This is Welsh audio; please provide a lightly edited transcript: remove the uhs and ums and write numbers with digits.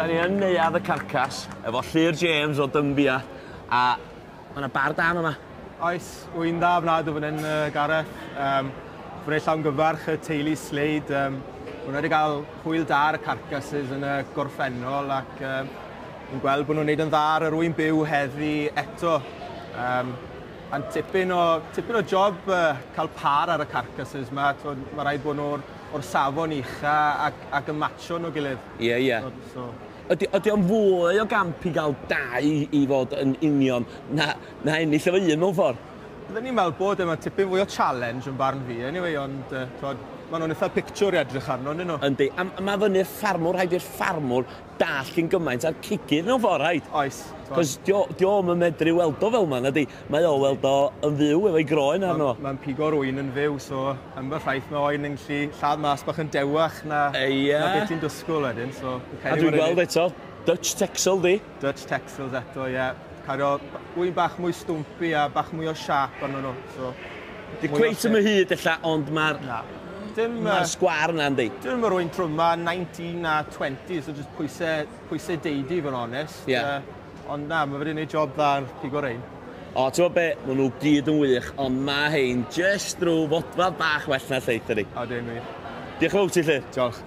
Da ni yn Neuadd y Carcas efo Llŷr James o Dymbia a ma' 'na bar da yma. Oes, wy'n dda ofnadw fan hyn, Gareth. Fy llawn gyfarch y teulu Slade. Maen nhw wedi cael hwyl da ar y carcasses yn y gorffennol ac yn gweld bod nhw'n neud yn dda ar yr ŵyn byw heddi eto. A'n tipyn o job cael par ar y carcasses yma. Mae rhaid bod nhw o'r safon ucha ac yn matcho nhw gilydd. Ie, ie. So, Ydy o'n fwy o gamp i gael dau i fod yn union na ennill efo un mewn ffordd? Byddwn ni'n meddwl bod yma tipyn fwy o challenge yn barn fi, anyway, ond maen nhw'n eitha picture i edrych arno, ydyn nhw? Yndi, a mae fyny'r ffarmwr, rhaid i'r ffarmwr dall cyn gymaint a'r cigydd mewn ffordd, rhaid? Oes. Cos di o'm yn medru weld o fel yma, nadi? Mae o weld o yn fyw efo'i groen arno. Mae'n pigo'r ŵyn yn fyw, so yn fy rhaith mae oen yn gallu lladd mas bach yn dewach na beth ti'n dysgwyl wedyn. So, a dwi'n gweld eto, Dutch Texel di? Dutch Texels eto, ie. Yeah. Cario ŵyn bach mwy stwmpi a bach mwy o siap arno nhw. So, di cweit yn hyd ella, ond mae'r Mae'r sgwar yna, yndi? Dim yr ŵyn trwma 19 a 20, so just pwysau deidi, fod yn onest. Ond na, mae wedi gwneud job dda yn pigo rein. O, ti'n gwybod be? Maen nhw gyd yn wych, ond mae hein just drwy fodfad bach well na lleill, ydi. O, dim wir. Diolch yn fawr ti, Llyr. Diolch.